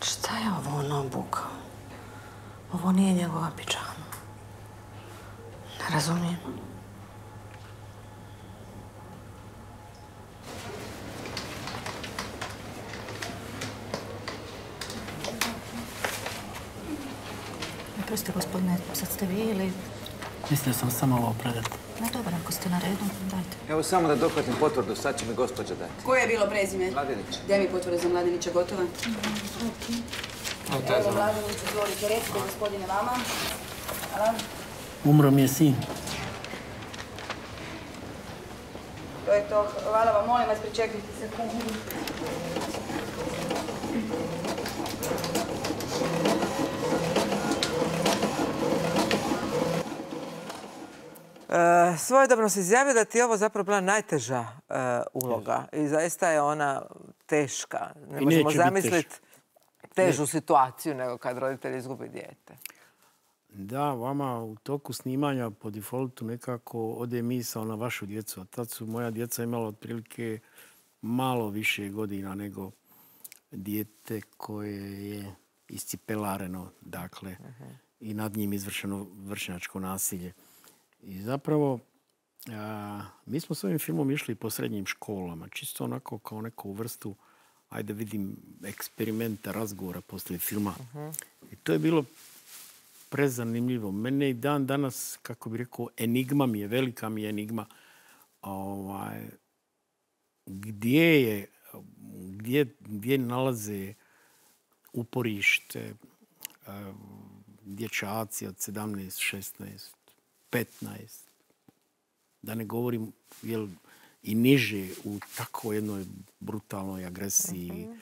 Šta je ovo on obukao? Ovo nije njegova pidžama. Ne razumijem. Proste, gospodine, sad ste vi ili... Mislio sam samo ovo predati. Ne, dobro, ako ste na redu, dajte. Evo samo da dohvatim potvrdu, sad će mi gospođa dati. Koje je bilo prezime? Mladenić. Gdje mi potvrda za Mladenića gotova? Evo, Mladenić, izvolite, recite, gospodine, vama. Hvala. Umro mi je sin. To je to. Hvala vam, molim vas, pričekajte sekundu. E, svojedobno se izjavio da ti je ovo zapravo bila najteža e, uloga i zaista je ona teška. Ne možemo zamisliti težu ne. situaciju nego kad roditelj izgubi dijete. Da, vama u toku snimanja po defaultu nekako ode misao na vašu djecu. A tad su moja djeca imala otprilike malo više godina nego dijete koje je iscipelareno, dakle, uh-huh. i nad njim izvršeno vršnjačko nasilje. I zapravo, a, mi smo s ovim filmom išli po srednjim školama, čisto onako kao neku vrstu, ajde vidim, eksperimenta, razgovora poslije filma. Uh-huh. I to je bilo prezanimljivo. Mene i dan danas, kako bih rekao, enigma mi je, velika mi je enigma. Ovaj, gdje je, gdje, gdje nalaze uporište dječaci od sedamnaest, šesnaest, petnaest, da ne govorim jel, i niže u tako jednoj brutalnoj agresiji. Uh-huh.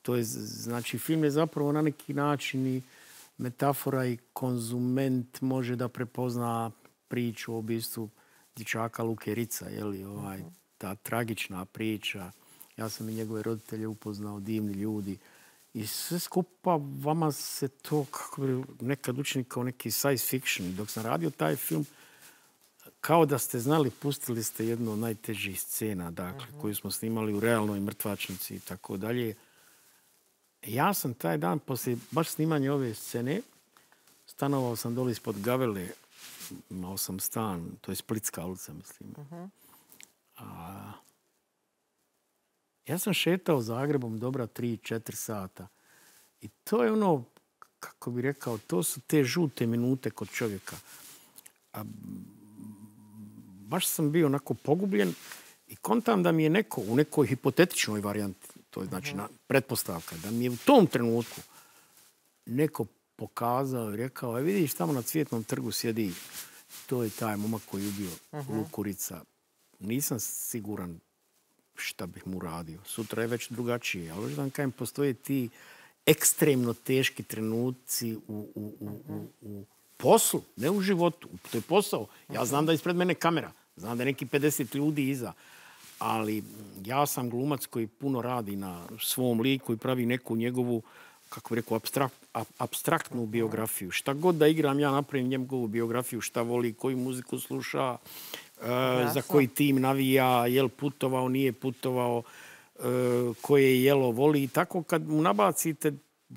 To je, znači, film je zapravo na neki način i metafora i konzument može da prepozna priču o ubistvu dječaka Luke Ritza, je li, ovaj, uh-huh. ta tragična priča. Ja sam i njegove roditelje upoznao, divni ljudi. I sve skupa vama se to kako bi nekad učini kao neki science fiction. Dok sam radio taj film, kao da ste znali, pustili ste jednu od najtežih scena, dakle, uh-huh. koju smo snimali u realnoj mrtvačnici i tako dalje. Ja sam taj dan, poslije baš snimanja ove scene, stanovao sam dole ispod Gavele, imao sam stan, to je Splitska ulica, mislim. Uh-huh. A, ja sam šetao Zagrebom dobra tri, četiri sata. I to je ono, kako bi rekao, to su te žute minute kod čovjeka. A, baš sam bio onako pogubljen i kontam da mi je neko u nekoj hipotetičnoj varijanti, to je znači na, pretpostavka, da mi je u tom trenutku neko pokazao i rekao, e vidiš, tamo na Cvjetnom trgu sjedi, to je taj momak koji je ubio uh-huh. Luku Ritza. Nisam siguran šta bih mu radio. Sutra je već drugačije. Ali već da vam kajem, postoje ti ekstremno teški trenuci u, u, u, u, u poslu, ne u životu. To je posao. Ja znam da je ispred mene kamera. Znam da je neki pedeset ljudi iza. Ali ja sam glumac koji puno radi na svom liku i pravi neku njegovu, kako bih rekao, abstrakt, abstraktnu biografiju. Šta god da igram, ja napravim njegovu biografiju, šta voli, koju muziku sluša, e, za koji tim navija, jel putovao, nije putovao, e, koje jelo voli. I tako kad mu nabacite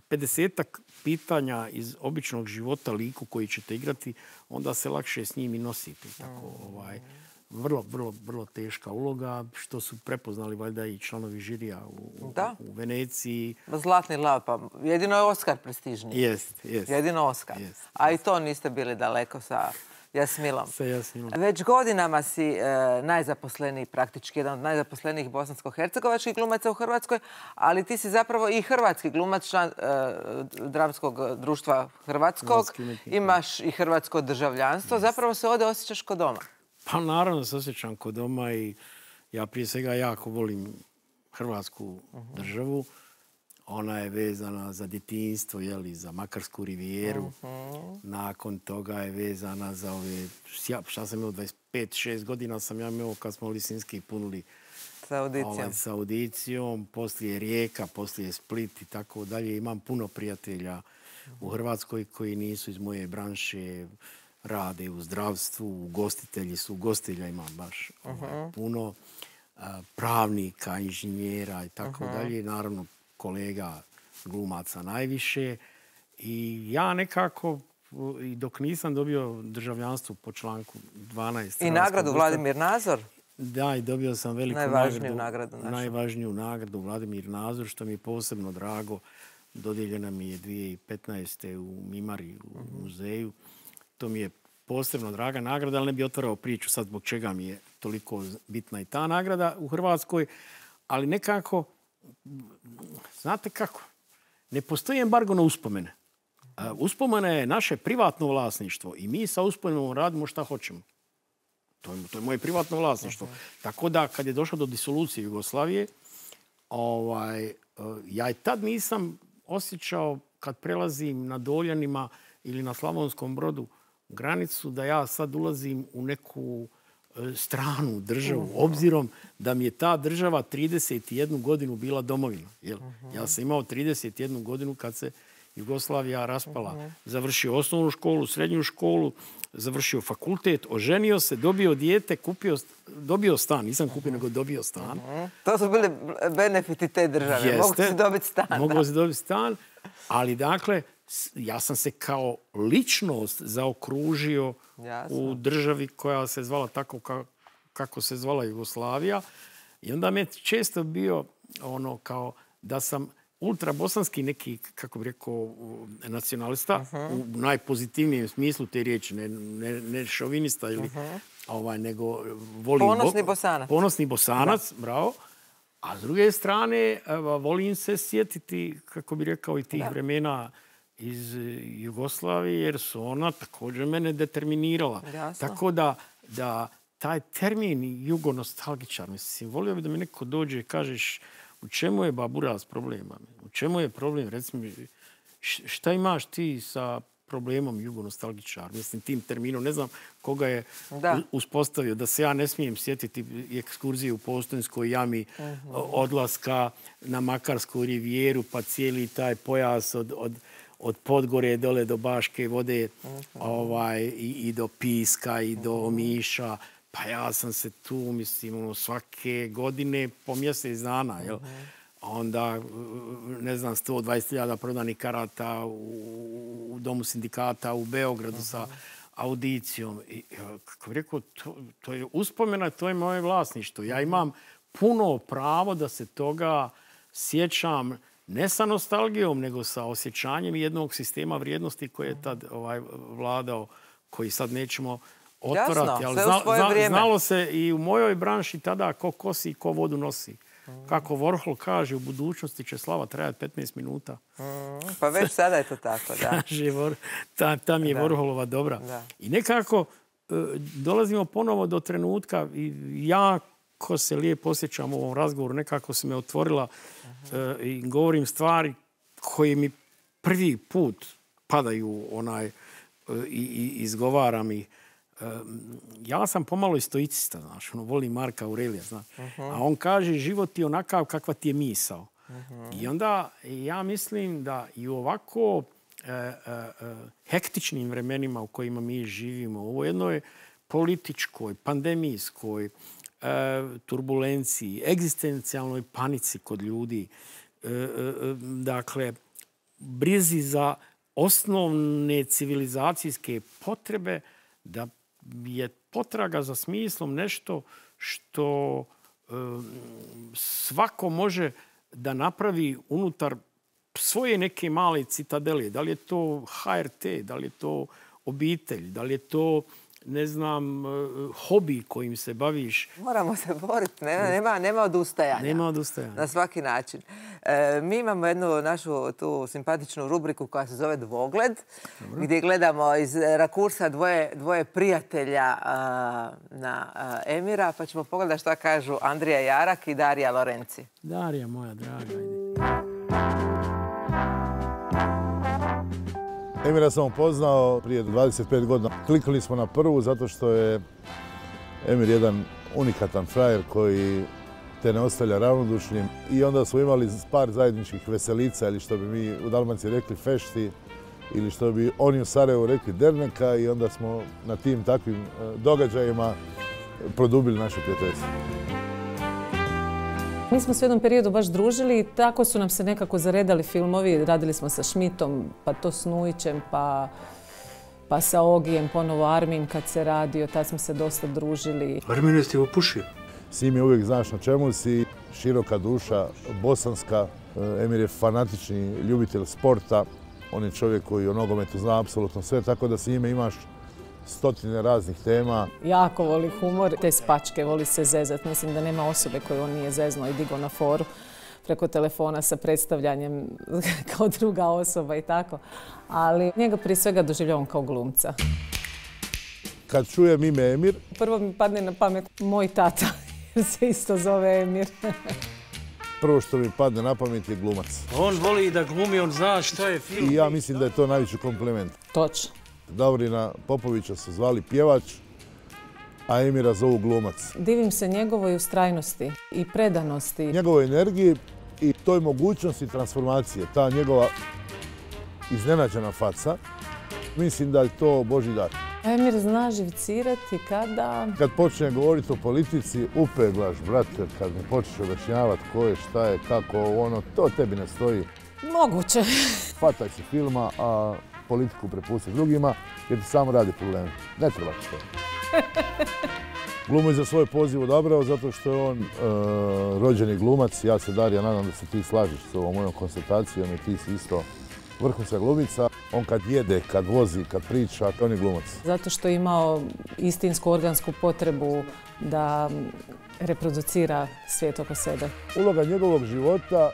pedesetak pitanja iz običnog života liku koji ćete igrati, onda se lakše s njim i nosite. Tako, ovaj, vrlo, vrlo, vrlo teška uloga, što su prepoznali valjda i članovi žirija u, u Veneciji. Zlatni lav, pa jedino je Oskar prestižniji. Jest, jest. Jedino Oskar. Jest, a jest. I to niste bili daleko sa Jasmilom. Sa Jasmilom. Već godinama si e, najzaposleniji, praktički jedan od najzaposlenijih bosansko-hercegovačkih glumaca u Hrvatskoj, ali ti si zapravo i hrvatski glumac, član e, Dramskog društva Hrvatskog. Imaš i hrvatsko državljanstvo. Jest. Zapravo se ovdje osjećaš kod doma. Pa naravno se osjećam kod doma i ja prije svega jako volim Hrvatsku državu. Ona je vezana za djetinjstvo, jeli, za Makarsku rivijeru. Nakon toga je vezana za ove... Šta sam imao, dvadeset pet šest godina sam ja imao kad smo Lisinski punuli sa audicijom. Ovaj, sa audicijom. Poslije Rijeka, poslije Split i tako dalje. Imam puno prijatelja u Hrvatskoj koji nisu iz moje branše, rade u zdravstvu, ugostitelji su, ugostitelja imam baš ovaj, puno, a, pravnika, inženjera i tako dalje. Naravno, kolega glumaca najviše. I ja nekako, i dok nisam dobio državljanstvo po članku dvanaest... I nagradu Vladimir Nazor? Da, i dobio sam veliku najvažniju nagradu. nagradu najvažniju nagradu Vladimir Nazor, što mi je posebno drago. Dodijeljena mi je dvije tisuće petnaeste u Mimari, u muzeju. To mi je posebno draga nagrada, ali ne bi otvarao priču sad zbog čega mi je toliko bitna i ta nagrada u Hrvatskoj. Ali nekako, znate kako, ne postoji embargo na uspomene. Uspomene je naše privatno vlasništvo i mi sa uspomenom radimo šta hoćemo. To je, to je moje privatno vlasništvo. Tako da, kad je došlo do disolucije Jugoslavije, ovaj, ja i tad nisam osjećao, kad prelazim na Doljanima ili na Slavonskom Brodu granicu, da ja sad ulazim u neku stranu državu, obzirom da mi je ta država trideset jednu godinu bila domovina. Jel? Ja sam imao trideset jednu godinu kad se Jugoslavija raspala. Završio osnovnu školu, srednju školu, završio fakultet, oženio se, dobio dijete, kupio, dobio stan. Nisam kupio, nego dobio stan. To su bili benefiti te države. Mogu si dobiti stan. Mogu si dobiti stan, ali dakle, ja sam se kao ličnost zaokružio u državi koja se zvala tako kako se zvala Jugoslavija. I onda me često bio ono kao da sam ultrabosanski neki, kako bi rekao, nacionalista, u najpozitivnijem smislu te riječi, ne, ne, ne šovinista ili ovaj, nego volim... Ponosni Bosanac. Ponosni Bosanac, bravo. A s druge strane, volim se sjetiti, kako bi rekao, i tih vremena iz Jugoslavije, jer su ona također mene determinirala. Jasno. Tako da, da taj termin jugonostalgičar, mislim, volio bi da mi neko dođe i kažeš u čemu je baburaz problema? U čemu je problem? Recimo, šta imaš ti sa problemom jugonostalgičar? Mislim, tim terminom, ne znam koga je da. uspostavio, da se ja ne smijem sjetiti ekskurzije u Postojnskoj jami, uh-huh. odlaska na Makarsku rivijeru, pa cijeli taj pojas od, od, od Podgore dole do Baške vode, uh-huh. ovaj, i, i do Piska, i do Omiša. Pa ja sam se tu, mislim, svake godine po mjesec dana, jel? Uh-huh. Onda, ne znam, sto dvadeset hiljada prodanih karata u, u Domu sindikata u Beogradu uh-huh. sa audicijom. I, kako bih rekao, to, to je uspomena, to je moje vlasništvo. Ja imam puno pravo da se toga sjećam ne sa nostalgijom, nego sa osjećanjem jednog sistema vrijednosti koji je tad ovaj, vladao, koji sad nećemo otvorati. Jasno, ali sve zna, u svoje zna, vrijeme. Znalo se i u mojoj branši tada ko kosi i ko vodu nosi. Mm. Kako Warhol kaže, u budućnosti će slava trajati petnaest minuta. Mm. Pa već sada je to tako, da. Kaže, ta, ta mi je da. Warholova dobra. Da. I nekako e, dolazimo ponovo do trenutka i jako se lijepo osjećam u ovom razgovoru. Nekako se me otvorila uh-huh. e, i govorim stvari koje mi prvi put padaju onaj e, i, i izgovaram ih. Ja sam pomalo i stoicista, znaš, ono, volim Marka Aurelija, znaš. Uh-huh. A on kaže, život je onakav kakva ti je misao. Uh-huh. I onda ja mislim da i u ovako e, e, hektičnim vremenima u kojima mi živimo, u jednoj političkoj, pandemijskoj e, turbulenciji, egzistencijalnoj panici kod ljudi, e, e, dakle, brizi za osnovne civilizacijske potrebe, da je potraga za smislom nešto što e, svako može da napravi unutar svoje neke male citadele. Da li je to ha er te, da li je to obitelj, da li je to, ne znam, hobi kojim se baviš. Moramo se boriti, nema, nema, nema odustajanja. Nema odustajanja. Na svaki način. E, mi imamo jednu našu tu simpatičnu rubriku koja se zove Dvogled, Dobro. gdje gledamo iz rakursa dvoje, dvoje prijatelja a, na a, Emira, pa ćemo pogledati šta kažu Andrija Jarak i Darija Lorenci. Darija, moja draga, ide. Emira sam upoznao prije dvadeset pet godina. Kliknuli smo na prvu zato što je Emir jedan unikatan frajer koji te ne ostavlja ravnodušnim. I onda smo imali par zajedničkih veselica ili što bi mi u Dalmaciji rekli fešti ili što bi oni u Sarajevu rekli derneka i onda smo na tim takvim događajima produbili naše prijateljstvo. Mi smo se u jednom periodu baš družili i tako su nam se nekako zaredali filmovi. Radili smo sa Šmitom, pa to s Nujićem, pa, pa sa Ogijem, ponovo Armin kad se radio, tad smo se dosta družili. Armin je ti opušio? S njim je uvijek znaš na čemu si, široka duša, bosanska. Emir je fanatični ljubitelj sporta. On je čovjek koji o nogometu zna apsolutno sve, tako da s njime imaš stotine raznih tema. Jako voli humor, te spačke, voli se zezat. Mislim da nema osobe koju on nije zeznuo i digao na foru preko telefona sa predstavljanjem kao druga osoba i tako. Ali njega prije svega doživljavam kao glumca. Kad čujem ime Emir... Prvo mi padne na pamet moj tata, jer se isto zove Emir. Prvo što mi padne na pamet je glumac. On voli da glumi, on zna šta je film. I ja mislim da je to najveći kompliment. Točno. Davorina Popovića su zvali pjevač, a Emira zovu glumac. Divim se njegovoj ustrajnosti i predanosti. Njegovoj energiji i toj mogućnosti transformacije, ta njegova iznenađena faca, mislim da je to Božji dar. Emir zna živcirati kada... Kad počne govoriti o politici, upeglaš, brate, kad mi počneš objašnjavati ko je, šta je, kako, ono, to tebi ne stoji. Moguće. Fataj se filma, a politiku prepusti drugima, jer ti samo radi probleme. Ne treba ti to. Glumu je za svoj poziv odabrao zato što je on e, rođeni glumac. Ja se, Darija, nadam da se ti slažeš s ovom mojom konstatacijom i ti si isto vrhunska glumica. On kad jede, kad vozi, kad priča, on je glumac. Zato što je imao istinsku organsku potrebu da reproducira svijet oko sebe. Uloga njegovog života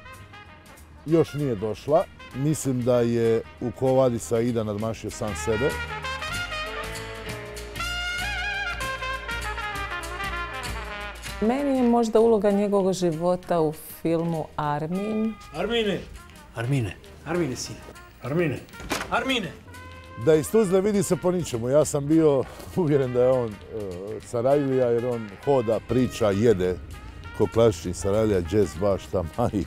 još nije došla. Mislim da je u Ko vadi Saida nadmašio sam sebe. Meni je možda uloga njegovog života u filmu Armin. Armine! Armine! Armine, sine! Armine! Armine! Da iz Tuzle vidi se po ničemu. Ja sam bio uvjeren da je on uh, Sarajlija jer on hoda, priča, jede ko klasični Sarajlija, džez, baš tamaj.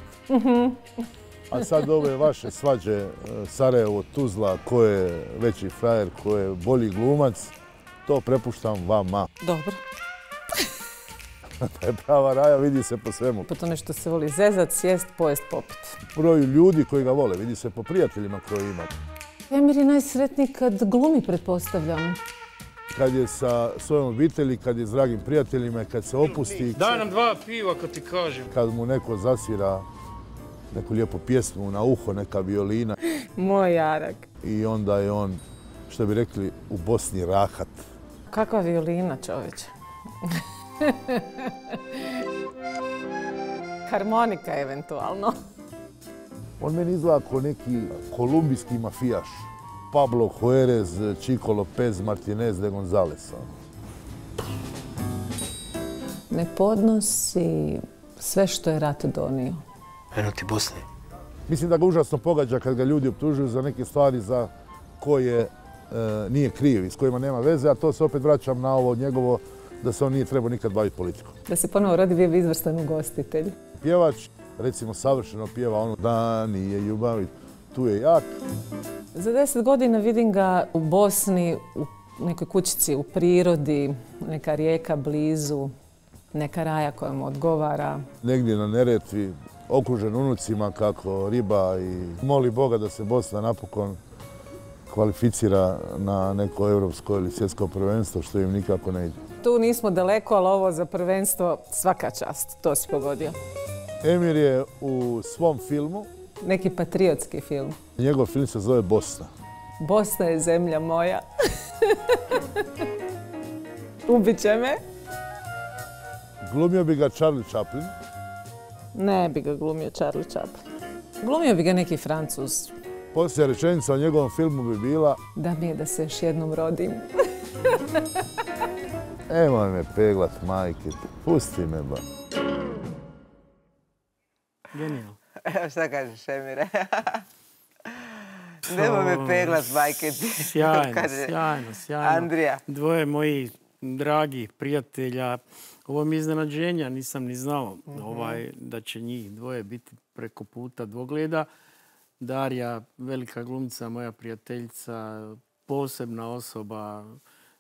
A sad ove vaše svađe Sarajevo, Tuzla, ko je veći frajer, ko je bolji glumac, to prepuštam vama. Dobro. Da je prava Raja, vidi se po svemu. Po tome što se voli zezat, sjest, pojest, popit. Broju ljudi koji ga vole, vidi se po prijateljima koji ima. Emir je najsretniji kad glumi, pretpostavljam. Kad je sa svojom obitelji, kad je s dragim prijateljima, kad se opusti. Daj nam dva piva kad ti kažem. Kad mu neko zasvira neku lijepu pjesmu na uho, neka violina. Moj jarak. I onda je on, što bi rekli, u Bosni rahat. Kakva violina, čovječe. Harmonika eventualno. On meni izgleda kao neki kolumbijski mafijaš. Pablo Juarez, Chico Lopez, Martinez de Gonzalez. Ne podnosi sve što je rat donio. Eno ti Bosne. Mislim da ga užasno pogađa kad ga ljudi optužuju za neke stvari za koje e, nije kriv i s kojima nema veze, a to se opet vraćam na ovo njegovo da se on nije trebao nikad baviti politikom. Da se ponovo rodi, bio bi izvrstan ugostitelj. Pjevač, recimo, savršeno pjeva ono da nije ljubavi, tu je jak. Za deset godina vidim ga u Bosni, u nekoj kućici u prirodi, neka rijeka blizu, neka raja koja mu odgovara. Negdje na Neretvi, okružen unucima kako riba i moli Boga da se Bosna napokon kvalificira na neko europsko ili svjetsko prvenstvo, što im nikako ne ide. Tu nismo daleko, ali ovo za prvenstvo svaka čast, to si pogodio. Emir je u svom filmu... Neki patriotski film. Njegov film se zove Bosna. Bosna je zemlja moja. Ubit će me. Glumio bi ga Charlie Chaplin. Ne bi ga glumio Charlie Chaplin. Glumio bi ga neki Francuz. Posljednja rečenica o njegovom filmu bi bila... Da mi je da se još jednom rodim. Nemoj me peglat, majke. Pusti me, ba. Genijalno. Evo šta kažeš, Emire? Nemoj me peglat, majke ti. Sjajno, sjajno, sjajno. Andrija. Dvoje mojih dragih prijatelja. Ovo mi je iznenađenja, nisam ni znao ovaj, da će njih dvoje biti preko puta dvogleda. Darija, velika glumica, moja prijateljica, posebna osoba,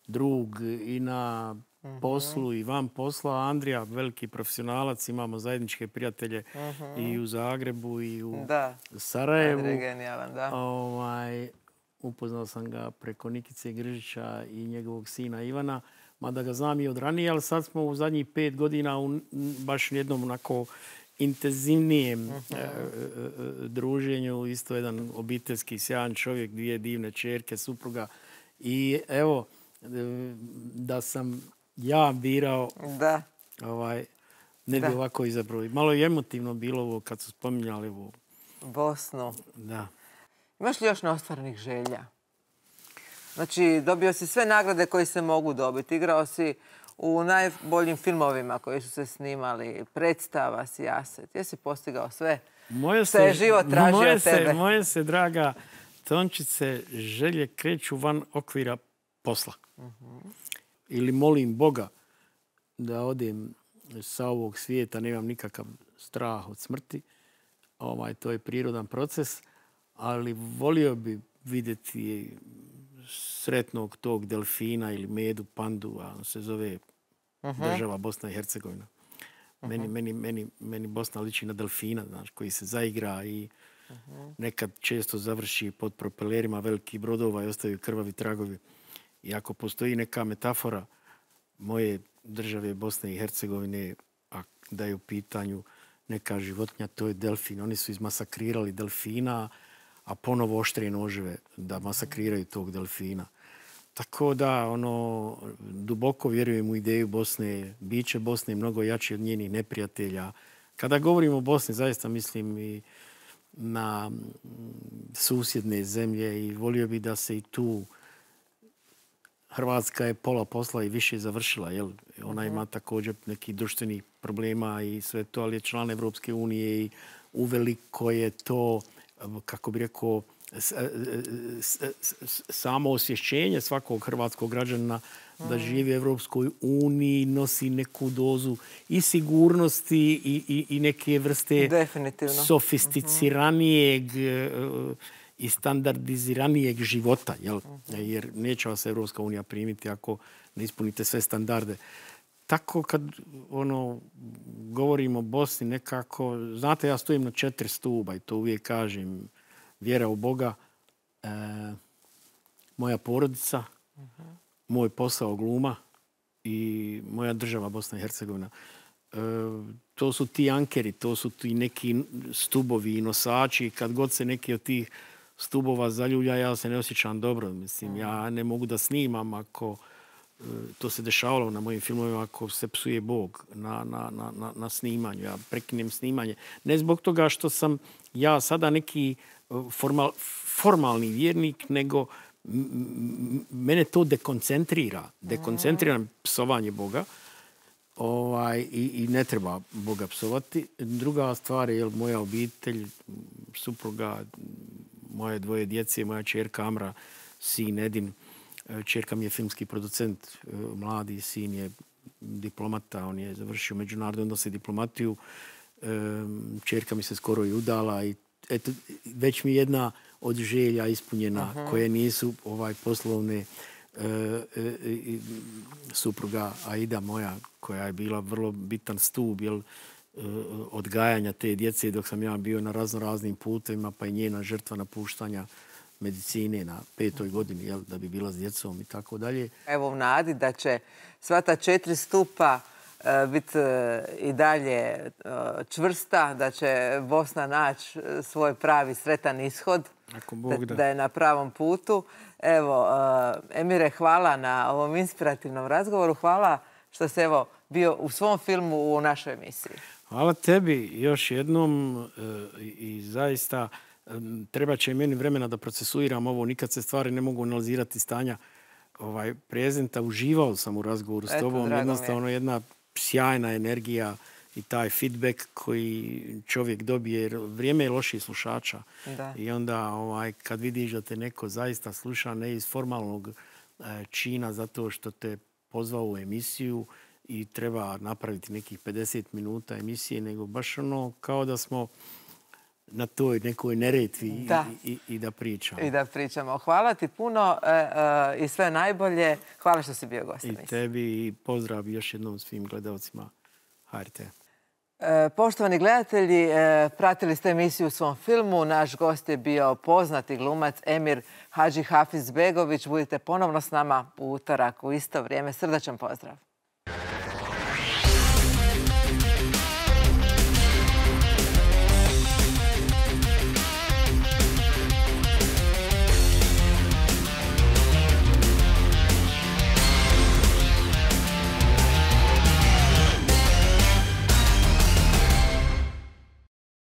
drug i na poslu i van posla. Andrija, veliki profesionalac, imamo zajedničke prijatelje i u Zagrebu i u Sarajevu. Andrija je genijalan, da. Ovaj, upoznao sam ga preko Nikice Gržića i njegovog sina Ivana, mada ga znam i od ranije, ali sad smo u zadnjih pet godina u baš jednom onako intenzivnijem uh-huh. e, druženju. Isto jedan obiteljski sjajan čovjek, dvije divne ćerke, supruga. I evo, da sam ja birao, da. Ovaj, ne bi ovako izabrao. Malo je emotivno bilo ovo kad su spominjali ovo. Bosnu. Da. Imaš li još neostvarenih želja? Znači, dobio si sve nagrade koje se mogu dobiti. Igrao si u najboljim filmovima koji su se snimali. Predstava si, Jaset. Jesi postigao sve? Moje se, je život tražio moje od tebe. Se, moje se, draga Tončice, želje kreću van okvira posla. Uh-huh. Ili molim Boga da odem sa ovog svijeta, nemam nikakav strah od smrti. Ovaj, to je prirodan proces, ali volio bi vidjeti sretnog tog delfina ili medu, pandu, a on se zove uh-huh. država Bosna i Hercegovina. Uh-huh. Meni, meni, meni, meni Bosna liči na delfina, znaš, koji se zaigra i uh-huh. nekad često završi pod propelerima velikih brodova i ostaju krvavi tragovi. I ako postoji neka metafora moje države Bosne i Hercegovine, a da je u pitanju neka životinja, to je delfin. Oni su izmasakrirali delfina, a ponovo oštrije noževe da masakriraju tog delfina. Tako da, ono, duboko vjerujem u ideju Bosne. Biće Bosne mnogo jači od njenih neprijatelja. Kada govorimo o Bosni, zaista mislim i na susjedne zemlje i volio bi da se i tu Hrvatska je pola posla i više završila. Jel? Ona ima također nekih društvenih problema i sve to, ali je član Evropske unije i uveliko je to, kako bi rekao, samo osvješćenje svakog hrvatskog građana da živi u Evropskoj uniji, nosi neku dozu i sigurnosti i, i, i neke vrste sofisticiranijeg i standardiziranijeg života. Jel? Jer neće vas Evropska unija primiti ako ne ispunite sve standarde. Tako kad ono, govorimo o Bosni nekako, znate, ja stojim na četiri stuba i to uvijek kažem. Vjera u Boga, e, moja porodica, uh-huh. moj posao gluma i moja država Bosna i Hercegovina. E, to su ti ankeri, to su ti neki stubovi i nosači. Kad god se neki od tih stubova zaljulja, ja se ne osjećam dobro. Mislim, uh-huh. ja ne mogu da snimam ako e, to se dešavalo na mojim filmovima, ako se psuje Bog na, na, na, na snimanju. Ja prekinem snimanje. Ne zbog toga što sam ja sada neki Formal, formalni vjernik, nego m- mene to dekoncentrira. Dekoncentrira psovanje Boga ovaj, i, i ne treba Boga psovati. Druga stvar je moja obitelj, supruga, moje dvoje djece, moja čerka Amra, sin Edin. Čerka mi je filmski producent, mladi sin je diplomata, on je završio međunarodne odnose i diplomatiju. Čerka mi se skoro i udala i eto, već mi jedna od želja ispunjena, uh-huh. koje nisu ovaj poslovne. E, e, e, supruga Aida moja, koja je bila vrlo bitan stup jel, e, odgajanja te djece dok sam ja bio na razno raznim putevima, pa i njena žrtva napuštanja medicine na petoj godini, jel, da bi bila s djecom i tako dalje. Evo u nadi da će sva ta četiri stupa biti i dalje čvrsta, da će Bosna naći svoj pravi sretan ishod, Ako Bog da. da je na pravom putu. Evo, Emire, hvala na ovom inspirativnom razgovoru. Hvala što si evo bio u svom filmu u našoj emisiji. Hvala tebi još jednom i zaista treba će meni vremena da procesuiram ovo. Nikad se stvari ne mogu analizirati stanja ovaj, prezenta. Uživao sam u razgovoru s tobom. Jednostavno jedna sjajna energija, i taj feedback koji čovjek dobije, jer vrijeme je loših slušača. Da. I onda ovaj, kad vidiš da te neko zaista sluša ne iz formalnog e, čina zato što te pozvao u emisiju i treba napraviti nekih pedeset minuta emisije, nego baš ono kao da smo na toj nekoj Neretvi da. I, i, i da pričamo. I da pričamo. Hvala ti puno e, e, i sve najbolje. Hvala što si bio gost. I tebi i pozdrav još jednom svim gledalcima H R T. E, poštovani gledatelji, e, pratili ste emisiju u svom filmu. Naš gost je bio poznati glumac Emir Hadžihafizbegović. Budite ponovno s nama u utorak u isto vrijeme. Srdačan pozdrav.